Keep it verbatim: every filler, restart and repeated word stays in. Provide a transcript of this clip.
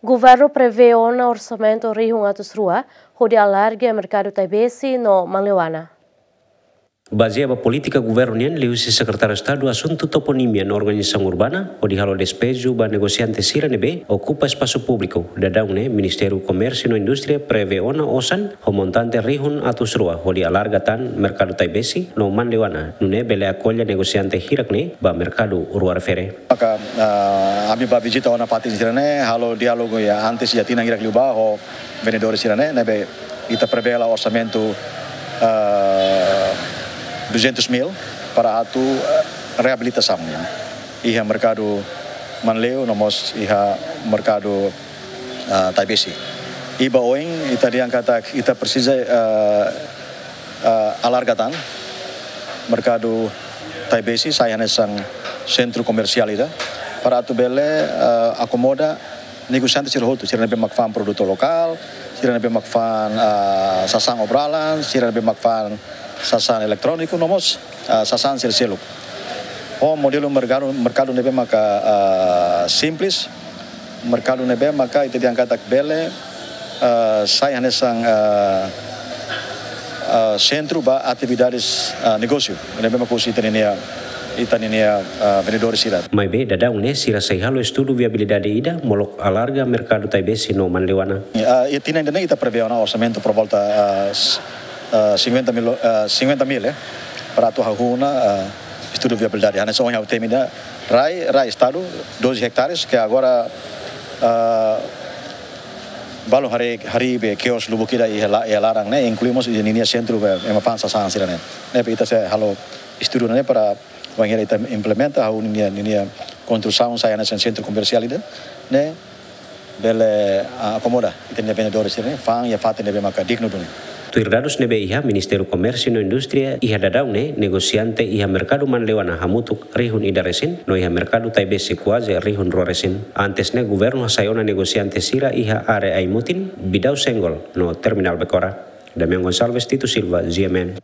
Governu prevee ona orsamentu rihun atus rua hodi alarga merkadu Taibesi no Manleuana. Bazeia ba polítika governu nian, liuhusi Sekretáriu Estadu Asuntu Toponímia no Organizasaun Urbana, hodi halo despeju ba negosiante sira ne'ebé okupa espasu públiku, daudaun ne'e Ministériu Komérsiu no Indústria prevee ona osan ho montante rihun atus rua hodi alarga tan merkadu Taibesi no Manleuana, nune'e bele akolla negosiante hirak ne'e ba merkadu rua refere. Maka, ah, ami bá vizita ona fatin sira-ne'e, halo diálogu iha antes iha tinan hirak liubá ho vendedores sira-ne'e, ne'ebé ita prevee hela orsamentu, ah, duzentos mil para atu, ah, reabilitasaun nian iha merkadu Manleu no mós iha merkadu, ah, Taibesi. I ba oin ita dehan katak ita presiza, ah, ah, alarga tan merkadu Taibesi sai hanesan sentru komersiál ida para atu bele, ah, akomoda negosiante sira hotu, sira ne'ebé mak fa'an produtu lokál, sira ne'ebé mak fa'an, ah, sasán obra-alan, sira ne'ebé mak fa'an sasán eletróniku, no mós, ah, sasán sira seluk. Ho modelu merkadu, merkadu ne'ebé maka, ah, simples, merkadu ne'ebé maka ita dehan katak bele, ah, sai hanesan, ah, ah, sentru ba atividades, ah, negósiu ne'ebé maka husi ita-ninia, ita-ninia, ah, vendedores sira. Maibé daudaun ne'e sira sei halo estudu viabilidade ida molok alarga merkadu Taibesi no Manleuana. Ah, iha tinan ida-ne'e ita prevee ona orsamentu por volta, ah, s-, ah, cinquenta mil, ah, cinquenta mil, eh, para atu hahú ona, ah, estudu viabilidade. Hanesan ohin ha'u temi ida, rai, rai Estadu, doze hectares, ke agora, ah, balun harii, harii be kios lubuk ida iha la-, iha laran ne'e, inklui mós iha ninia sentru be ema fa'an sasán sira-ne'e. Ne'ebé ita sei halo estudu ne'e para wainhira ita implementa, hahú ninia, ninia konstrusaun sai hanesan sentru komersiál ida-ne'e, bele, ah, akomoda ita-nia vendedores sira-ne'e fa'an iha fatin ne'ebé maka dignu duni. Tuir dadus ne'ebé iha Ministériu Komérsiu no Indústria, iha daudaun ne'e negosiante iha merkadu Manleuana hamutuk rihun ida resin, no iha merkadu Taibesi kuaze rihun rua resin. Antes ne'e governu hasai ona negosiante sira iha área Aimutin, Bidau Senggol, no Terminál Becora. Damian Gonçalves, Tito Silva, G M N.